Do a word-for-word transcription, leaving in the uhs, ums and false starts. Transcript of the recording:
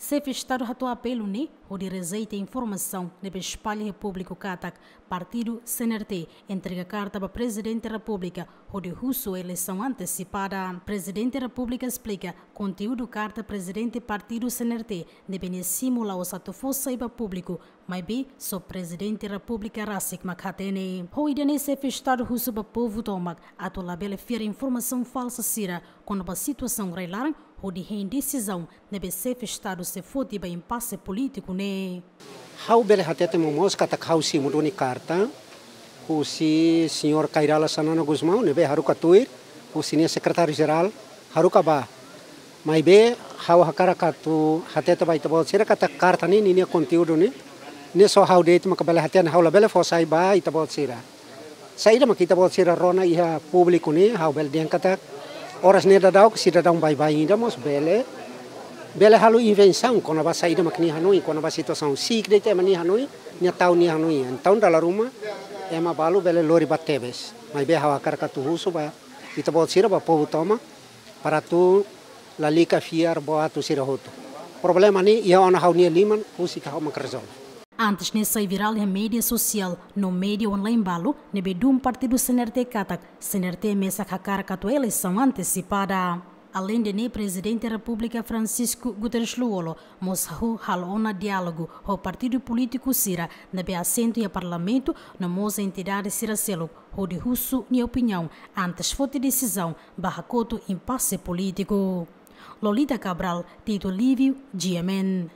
Xefe Estadu hato'o apelu ne'e hodi rejeita informasaun ne'ebé espalla iha públiku katak Partidu C N R T entrega karta ba Prezidente Repúblika hodi husu eleisaun antesipada. Prezidente Repúblika esplika konteúdu karta Prezidente Partidu C N R T ne'ebé nia simu la'ós atu fó sai ba públiku, maibé só Prezidente Repúblika rasik mak hatene. Ho ida-ne'e Xefe Estadu husu ba povu tomak atu labele fiar informasaun falsa sira kona-ba situasaun rai-laran hodi hein desizaun ne'ebé Xefe Estadu sei foti ba impase polítiku ne'e. Ha'u bele hatete momoos katak ha'u simu duni karta husi Señór Kay Rala Xanana Gusmão ne'ebé haruka tuir husi nia Sekretáriu Jerál haruka bá. Maibé ha'u hakarak atu hatete ba ita-boot sira katak karta ne'e, ninia konteúdu ne'e, ne'e só ha'u de'it maka bele hatene, ha'u labele fó sai ba ita-boot sira. Saida mak ita-boot sira rona iha públiku ne'e, ha'u bele dehan katak oras ne'e daudaun sidadaun baibain ida mós bele, bele halo invensaun kona-ba saida mak nia hanoin, kona-ba situasaun. Si'ik de'it ema nia hanoin, nia tau nia hanoin. Entaun dala ruma ema balu bele lori ba tebes. Maibé ha'u hakarak atu husu ba ita-boot sira, ba povu tomak, para atu lalika fiar boot atu sira hotu. Problema ne'e iha ona ha'u-nia liman, husik ha'u mak rezolve. Antes ne'e sai virál iha média sosiál no média online balu ne'ebé dún Partidu C N R T katak C N R T mesak hakarak atu eleisaun antesipada. Aleinde ne'e, Prezidente Repúblika Francisco Guterres Lú-Olo mós hahú halo ona diálogu ho partidu polítiku sira ne'ebé asentu iha Parlamentu no mós entidade sira seluk hodi husu nia opiniaun antes foti desizaun ba hakotu impase polítiku. Lolita Cabral, Tito Livio, G M N.